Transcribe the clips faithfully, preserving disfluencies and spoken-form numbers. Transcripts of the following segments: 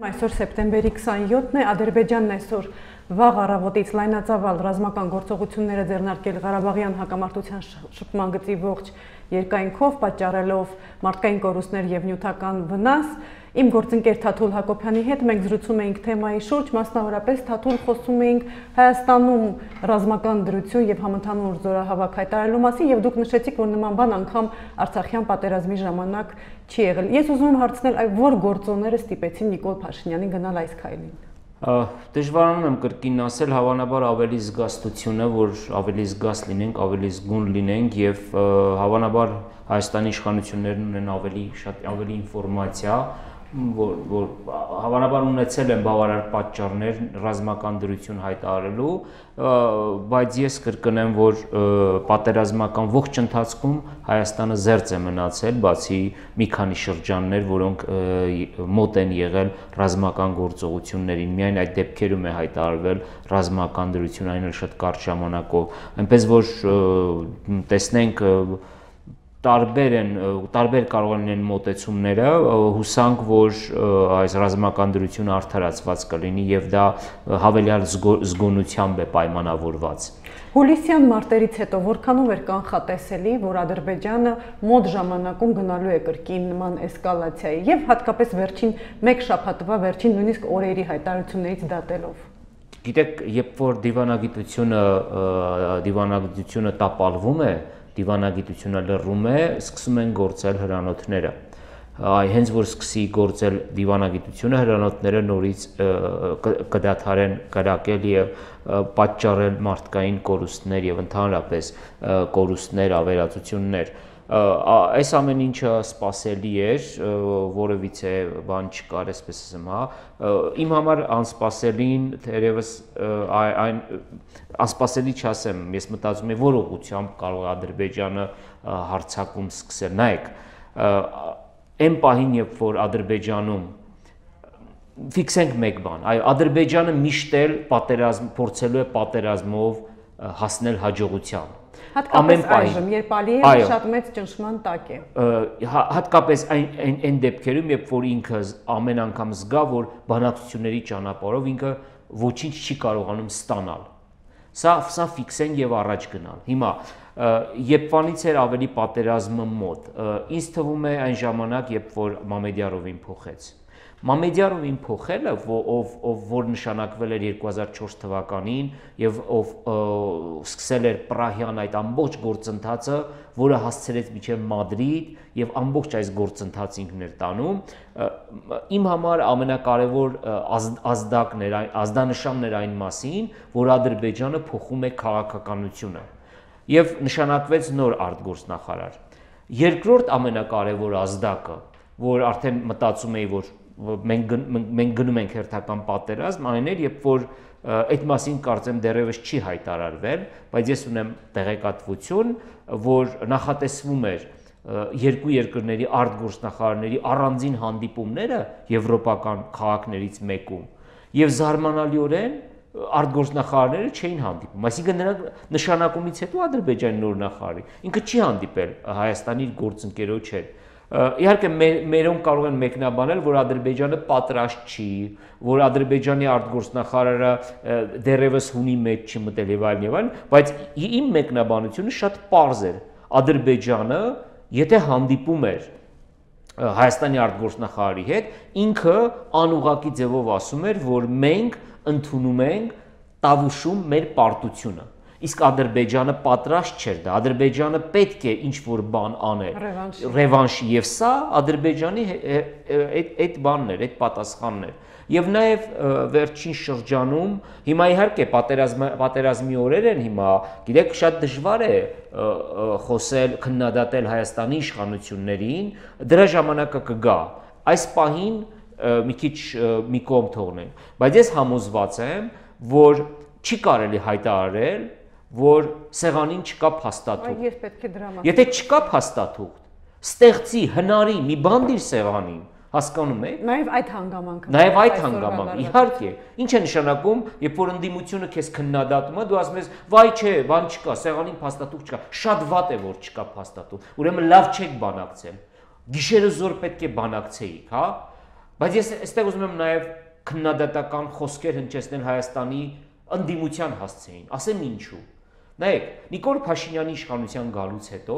Այսօր սեպտեմբերի քսանյոթն է, Ադրբեջանն այսօր վաղ առավոտից լայնածավալ ռազմական գործողությունները ձեռնարկել Ղարաբաղյան հակամարտության շփման գծի ողջ երկայնքով, պատճառելով մարդկային կորուստներ և նյութական վնաս։ Իմ գործընկեր Թաթուլ Հակոբյանի հետ մենք զրուցում էինք թեմայի շուրջ, մասնավորապես Թաթուլ խոսում էինք Հայաստանում ռազմական դրություն և համընդհանուր զորահավաք հայտարարելու մասին, և դուք նշեցիք, որ նման բան անգամ Արցախյան պատերազմի ժամանակ չի եղել։ Ես ուզում եմ հարցնել, որ գործոնները ստիպեցին Նիկոլ Փաշինյանին գնալ այս քայլին։ Դժվարանում եմ կրկին ասել, հավանաբար ավելի զգաստությունը, որ ավելի զգաստ լինենք, ավելի զգուն լինենք եւ հավանաբար Հայաստանի իշխանություններն ունեն ավելի շատ ավելի ինֆորմացիա, որ որ հավանաբար ունեցել են բավարար պատճառներ ռազմական դրություն հայտարարելու, բայց ես կրկնեմ, որ պատերազմական ողջ ընթացքում Հայաստանը զերծ է մնացել, բացի մի քանի շրջաններ, որոնք մոտ են եղել ռազմական գործողություններին, միայն այդ դեպքերում է հայտարարվել ռազմական դրություն, այն էլ շատ կարճ ժամանակով, այնպես որ տեսնենք տարբեր են, տարբեր կարող են լինեն մոտեցումները, հուսանք, որ այս ռազմական դրությունը արդարացված կլինի եւ դա հավելյալ զգոնությամբ է պայմանավորված։ Հուլիսյան մարտերից հետո որքանով էր կանխատեսելի, որ Ադրբեջանը մոտ ժամանակում գնալու է կրկին նման էսկալացիայի եւ հատկապես վերջին մեկ շաբաթվա վերջին նույնիսկ օրերի հայտարարություններից դատելով։ Գիտեք, երբ որ դիվանագիտությունը դիվանագիտությունը տապալվում է, դիվանագիտությունը լռում է, սկսում են գործել հրանոթները։ Հենց որ սկսի գործել դիվանագիտությունը, հրանոթները նորից կդադարեն կրակել եւ պատճառել մարդկային կորուստներ եւ ընդհանրապես կորուստներ, ավերածություններ։ Այս ամեն ինչը սպասելի էր, որևիցե բան չկար, այսպես ասեմ, հա։ Իմ համար անսպասելին թերևս այն անսպասելի չասեմ, ես մտածում եմ, որ ուղղությամբ կարող է Ադրբեջանը հարձակում սկսել։ Նայեք, այն պահին, երբ որ Ադրբեջանում ֆիքսենք մեկ բան, այո, Ադրբեջանը միշտ էլ պատերազմ փորձելու է պատերազմով հասնել հաջողության։ Հատկապես այժմ, երբ Ալիևը շատ մեծ ճնշման տակ է։ Հատկապես այն այն դեպքերում, երբ որ ինքը ամեն անգամ զգա, որ բանակցությունների ճանապարհով ինքը ոչինչ չի կարողանում ստանալ։ Սա սա ֆիքսեն եւ առաջ գնալ։ Հիմա երբվանից էր ավելի պատերազմը մոտ։ Ինձ թվում է այն ժամանակ, երբ որ Մամեդյարովին փոխեց։ Մամեդյարովին փոխելը, ով ով որ նշանակվել էր երկու հազար չորս թվականին եւ ով սկսել էր Պրահյան այդ ամբողջ գործընթացը, որը հասցրեց մինչեւ Մադրիդ եւ ամբողջ այս գործընթացը ինքն էր տանում, իմ համար ամենակարևոր ազդակն էր, ազդանշանն էր այն մասին, որ Ադրբեջանը փոխում է քաղաքականությունը եւ նշանակվեց նոր արտգործնախարար։ Երկրորդ ամենակարևոր ազդակը, որ արդեն մտածում էի, որ մենք մենք գնում ենք հերթական պատերազմ, այն էր, երբ որ այդ մասին կարծեմ դեռևս չի հայտարարվել, բայց ես ունեմ տեղեկատվություն, որ նախատեսվում էր երկու երկրների արտգործնախարարների առանձին հանդիպումները եվրոպական քաղաքներից մեկում, եւ զարմանալիորեն արտգործնախարարները չէին հանդիպում, այսինքն նրանք նշանակումից հետո Ադրբեջանի նոր նախարարի ինքը չի հանդիպել Հայաստանի գործընկերոջ հետ։ Իհարկե մերոնք կարող են մեկնաբանել, որ Ադրբեջանը պատրաստ չի, որ Ադրբեջանի արտգործնախարարը դեռևս հունի մեջ չի մտել եւ այլն եւ այլն, բայց իմ մեկնաբանությունը շատ պարզ էր։ Ադրբեջանը, եթե հանդիպում էր Հայաստանի արտգործնախարարի հետ, ինքը անուղղակի ձևով ասում էր, որ մենք ընդունում ենք Տավուշում մեր պարտությունը։ Իսկ Ադրբեջանը պատրաստ չէր դա, Ադրբեջանը պետք է ինչ-որ բան աներ, ռևանշի, եւ սա Ադրբեջանի այդ բանն էր, այդ պատասխանն էր։ Եվ նաեւ վերջին շրջանում, հիմա իհարկե պատերազմի օրեր են հիմա, գիտեք, շատ դժվար է խոսել, քննադատել Հայաստանի իշխանություններին, դրա ժամանակը կգա։ Այս պահին մի քիչ մի կողմ թողնենք, բայց ես համոզված եմ, որ չի կարելի հայտարարել, որ սեղանին չկա փաստաթուղթ։ Ես պետք է դրա մասին։ Եթե չկա փաստաթուղթ, ստեղծի, հնարի մի բան դիր սեղանին, հասկանում եք։ Նաև այդ հանգամանքը։ Նաև այդ հանգամանքը, իհարկե։ Ինչ է նշանակում, երբ որ ընդդիմությունը քեզ քննադատում է, դու ասում ես, վայ չէ, բան չկա, սեղանին փաստաթուղթ չկա։ Շատ վատ է, որ չկա փաստաթուղթ։ Ուրեմն լավ չեք բանակցել։ Գիշերը զոր պետք է բանակցեիք, հա։ Բայց ես այստեղ ուզում եմ նաև քննադատական խոսքեր հնչեցնել Հայաստանի ընդդիմության հասցեին, ասեմ ինչու։ Նայեք, Նիկոլ Փաշինյանի իշխանության գալուց հետո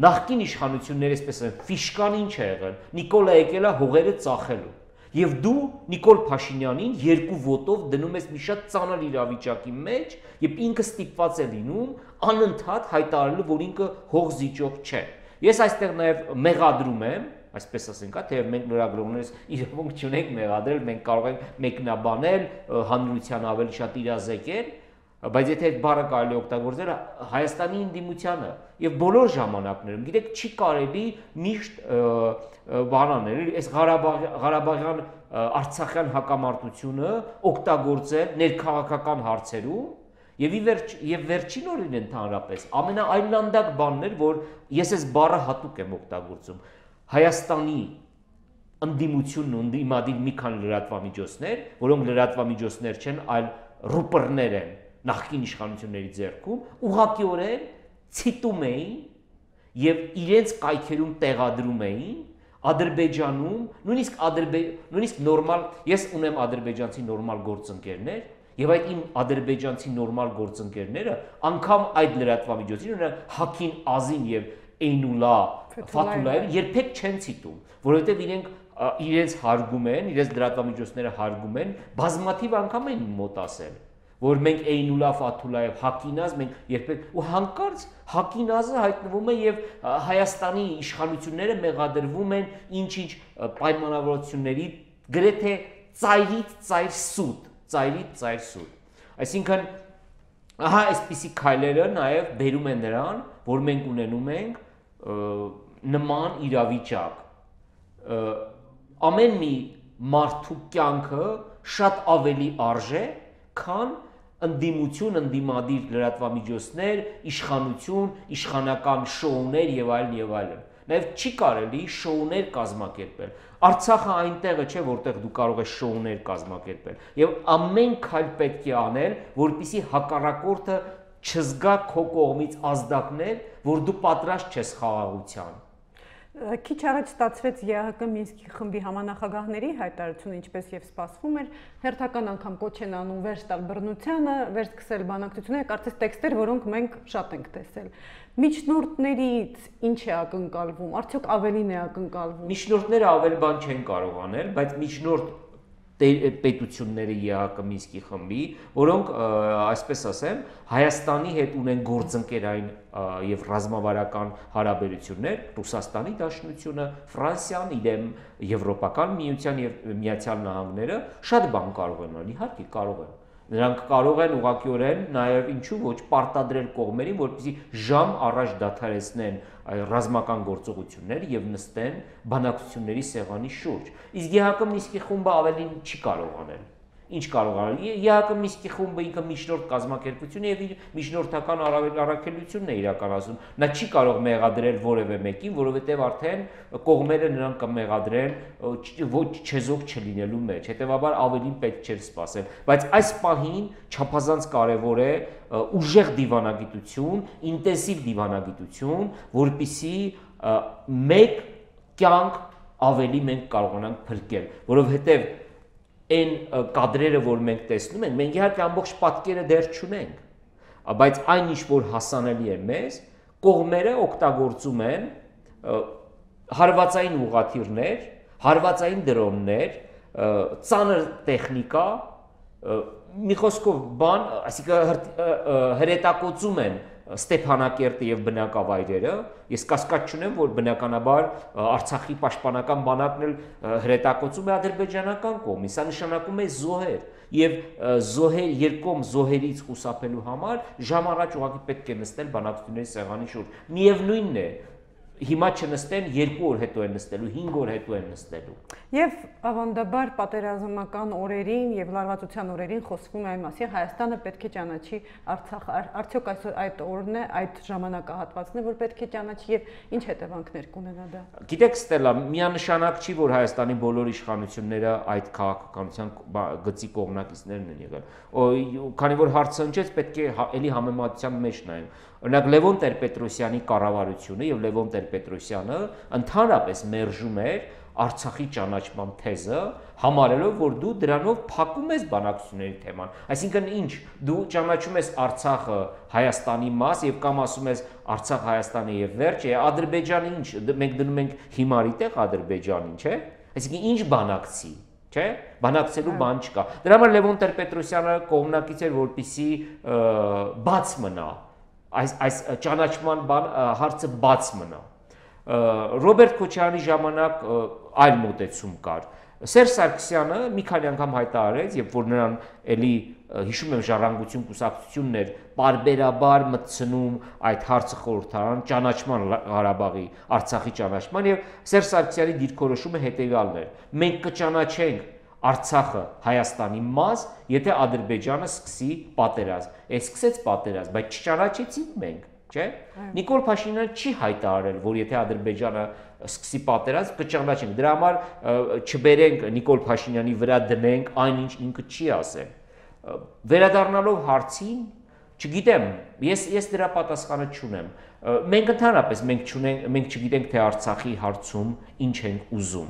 նախկին իշխանությունները, այսպես են, ֆիշկան ինչ է եղել, Նիկոլը եկել է հողերը ծախելու։ Եվ դու Նիկոլ Փաշինյանին երկու ոտով դնում ես մի շատ ծանր իրավիճակի մեջ, եւ ինքը ստիպված է լինում անընդհատ հայտարարելու, որ ինքը հող զիջող չէ։ Ես այստեղ նաեւ մեղադրում եմ, այսպես ասենք, թեև մենք լրագրողներս իրավունք չունենք մեղադրել, մենք կարող ենք մեկնաբանել, հանրության ավելի շատ իրազեկել, բայց եթե այդ բառը կարելի օգտագործել Հայաստանի ընդդիմությանը եւ բոլոր ժամանակներում, գիտեք, չի կարելի միշտ բանանել, այս Ղարաբաղյան Արցախյան հակամարտությունը օգտագործել ներքաղաքական հարցերում եւ ի վերջ եւ վերջին օրին ընդհանրապես ամենաայլանդակ բանն էր, որ ես այս բառը հատուկ եմ օգտագործում Հայաստանի ընդդիմությունն ու ընդդիմադիր մի քանի լրատվամիջոցներ, որոնք լրատվամիջոցներ չեն, այլ ռուպերներ են նախկին իշխանությունների ձեռքում, ուղղակիորեն ցիտում էին եւ իրենց կայքերում տեղադրում էին Ադրբեջանում, նույնիսկ ադրբե նույնիսկ նորմալ, ես ունեմ ադրբեջանցի նորմալ գործընկերներ, եւ այդ իմ ադրբեջանցի նորմալ գործընկերները անգամ այդ լրատվամիջոցին ունեն Հաքին Ազին եւ Էյնուլա Ֆաթուլաև երբեք չեն ցիտում, որովհետեւ իրենք իրենց հարգում են, իրենց լրատվամիջոցները հարգում են, բազմաթիվ անգամ են մոտ ասել, որ մենք Էյնուլա Ֆաթուլաև Հակինազ մենք երբեք ու հանկարծ Հակինազը հայտնվում է եւ Հայաստանի իշխանությունները մեղադրվում են ինչ-ինչ պայմանավորությունների գրեթե ծայրից ծայր սուտ, ծայրից ծայր սուտ։ Այսինքն ահա այսպիսի քայլերը նաեւ բերում են նրան, որ մենք ունենում ենք նման իրավիճակ։ Ամեն մի մարդու կյանքը շատ ավելի արժե, քան ընդդիմություն, ընդդիմադիր լրատվամիջոցներ, իշխանություն, իշխանական շոուներ եւ այլն եւ այլն։ Նաեւ չի կարելի շոուներ կազմակերպել։ Արցախը այնտեղը չէ, որտեղ դու կարող ես շոուներ կազմակերպել։ Եվ ամեն քայլ պետք է անել, որպեսզի հակառակորդը չզգա քո կողմից ազդակներ, որ դու պատրաստ չես խաղաղության։ Քիչ առաջ ստացվեց ԵԱՀԿ Մինսկի խմբի համանախագահների հայտարարությունը, ինչպես եւ սպասվում էր, հերթական անգամ կոչ են անում վերջ տալ բռնությանը, վերջ սկսել բանակցությունները, կարծես տեքստեր, որոնք մենք շատ ենք տեսել։ Միջնորդներից ինչ է ակնկալվում, արդյոք ավելին է ակնկալվում։ Միջնորդները ավել բան չեն կարող անել, բայց միջնորդ պետությունները ԵԱՀԿ Մինսկի խմբի, որոնք, այսպես ասեմ, Հայաստանի հետ ունեն գործընկերային եւ ռազմավարական հարաբերություններ, Ռուսաստանի Դաշնությունը, Ֆրանսիան, իրեն Եվրոպական միության եւ Միացյալ Նահանգները շատ բան կարող են անել, իհարկե կարող են։ Նրանք կարող են ուղղակիորեն նաեւ ինչու ոչ պարտադրել կողմերին, որպեսզի ժամ առաջ դադարեցնեն ռազմական գործողություններ եւ նստեն բանակցությունների սեղանի շուրջ։ Իսկ ԵԱՀԿ Մինսկի խումբը ավելին չի կարող անել։ Ինչ կարող անել։ ԵԱՀԿ Մինսկի խումբը ինքը միջնորդ կազմակերպություն է եւ իր միջնորդական առաքելությունն է իրականացնում։ Նա չի կարող մեղադրել որևէ մեկին, որովհետեւ արդեն կողմերը նրան կմեղադրեն ոչ չեզոք չլինելու մեջ։ Հետևաբար ավելին պետք չէր սպասել։ Բայց այս պահին չափազանց կարեւոր է ուժեղ դիվանագիտություն, ինտենսիվ դիվանագիտություն, որպիսի մեկ կյանք ավելի մենք կարողանանք փրկել, որովհետեւ այն կադրերը, որ մենք տեսնում ենք, մենք իհարկե ամբողջ պատկերը դեռ չունենք, բայց այն ինչ որ հասանելի է մեզ, կողմերը օգտագործում են հարվածային ուղղաթիռներ, հարվածային դրոններ, ծանր տեխնիկա, մի խոսքով բան, այսինքն հրետակոծում են Ստեփանակերտը եւ բնակավայրերը, ես կասկած չունեմ, որ բնականաբար Արցախի պաշտպանական բանակն էլ հրետակոծում է ադրբեջանական կողմից, սա նշանակում է զոհեր եւ զոհեր երկում զոհերից խուսափելու համար ժամ առաջ ուղղակի պետք է նստել բանակցությունների սեղանի շուրջ։ Միևնույնն է, հիմա չնստեն, երկու օր հետո են նստելու, հինգ օր հետո են նստելու։ Եվ ավանդաբար պատերազմական օրերին եւ լարվածության օրերին խոսվում է այն մասին, Հայաստանը պետք է ճանաչի Արցախը, արդյոք այսօր այդ օրն է, այդ ժամանակահատվածն է, որ պետք է ճանաչի եւ ինչ հետևանքներ կունենա դա։ Գիտեք, Ստելա, միանշանակ չի, որ Հայաստանի բոլոր իշխանությունները այդ քաղաքականության գծի կողմնակիցներն են եղել։ Քանի որ հարցը ընչեց, պետք է էլի համեմատության մեջ նայենք։ Օրինակ Լևոն Տեր-Պետրոսյանի կառավարությունը եւ Լևոն Տեր-Պետրոսյանը ընդհանրապես մերժում էր Արցախի ճանաչման թեզը, համարելով, որ դու դրանով փակում ես բանակցությունների թեման։ Այսինքն ինչ, դու ճանաչում ես Արցախը Հայաստանի մաս եւ կամ ասում ես Արցախ Հայաստանի եւ վերջ, Ադրբեջանը ինչ, մենք դնում ենք հիմարի տեղ Ադրբեջանին, չէ՞։ Այսինքն ինչ բանակցի, չէ՞։ Բանակցելու բան չկա։ Դրա համար Լևոն Տեր-Պետրոսյանը կողմնակից էր, որպեսզի բաց մնա, այս այս ճանաչման բան հարցը բաց մնա։ Ռոբերտ Քոչարյանի ժամանակ այլ մոտեցում կար։ Սերժ Սարգսյանը մի քանի անգամ հայտարարեց, երբ որ նրան էլի հիշում եմ Ժառանգություն կուսակցությունն էր պարբերաբար մտցնում այդ հարցը խորհրդարան ճանաչման Ղարաբաղի, Արցախի ճանաչման եւ Սերժ Սարգսյանի դիրքորոշումը հետեւյալն էր. մենք կճանաչենք Արցախը Հայաստանի մաս, եթե Ադրբեջանը սկսի պատերազմ։ Է սկսեց պատերազմ, բայց չճանաչեցինք մենք, չէ՞։ Նիկոլ Փաշինյանը չի հայտարարել, որ եթե Ադրբեջանը սկսի պատերազմ, կճանաչենք։ Դրա համար չբերենք Նիկոլ Փաշինյանի վրա դնենք այնինչ ինքը չի ասել։ Վերադառնալով հարցին, չգիտեմ, ես ես դրա պատասխանը չունեմ։ Մենք ընդհանրապես մենք չունենք, մենք չգիտենք թե Արցախի հարցում ինչ ենք ուզում։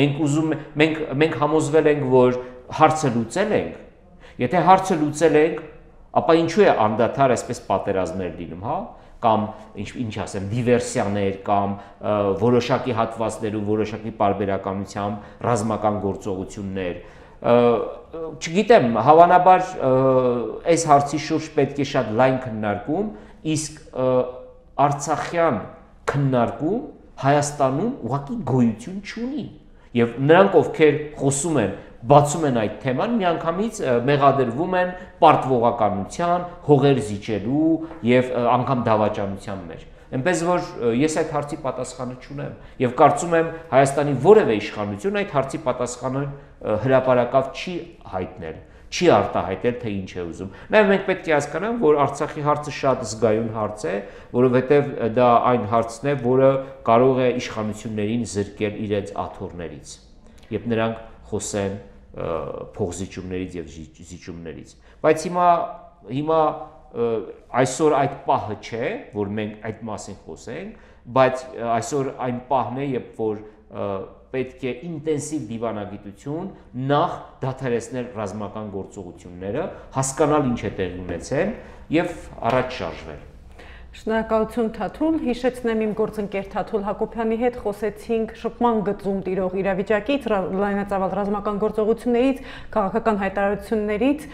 Մենք ուզում մենք մենք համոզվել ենք, որ հարցը լուծել ենք։ Եթե հարցը լուծել ենք, ապա ինչու է անդադար այսպես պատերազմներ լինում, հա? Կամ ինչ ինչ ասեմ, դիվերսիաներ կամ որոշակի հատվածներում որոշակի պարբերականությամբ ռազմական գործողություններ։ Չգիտեմ, հավանաբար այս հարցի շուրջ պետք է շատ լայն քննարկում, իսկ արցախյան քննարկում Հայաստանում ուղղակի գոյություն չունի։ Եվ նրանք, ովքեր խոսում են, բացում են այդ թեման, միանգամից մեղադրվում են պարտվողականության, հողեր զիջելու եւ անգամ դավաճանության մեջ։ Այնպես որ ես այդ հարցի պատասխանը չունեմ եւ կարծում եմ Հայաստանի որևէ իշխանություն այդ հարցի պատասխանը հրապարակավ չի հայտնել, չի արտահայտել, թե ինչ է ուզում։ Նաեւ մենք պետք է հասկանանք, որ Արցախի հարցը շատ զգայուն հարց է, որովհետեւ դա այն հարցն է, որը կարող է իշխանություններին զրկել իրենց աթոռներից, երբ նրանք խոսեն փողզիջումներից եւ զիջումներից։ Բայց հիմա հիմա այսօր այդ պահը չէ, որ մենք այդ մասին խոսենք, բայց այսօր այն պահն է, երբ որ պետք է ինտենսիվ դիվանագիտություն նախ դադարեցնել ռազմական գործողությունները, հասկանալ ինչ է տեղի ունեցել եւ առաջ շարժվել։ Շնորհակալություն Թաթուլ, հիշեցնեմ իմ գործընկեր Թաթուլ Հակոբյանի հետ խոսեցինք շփման գծում տիրող իրավիճակից, լայնածավալ ռազմական գործողություններից, քաղաքական հայտարարություններից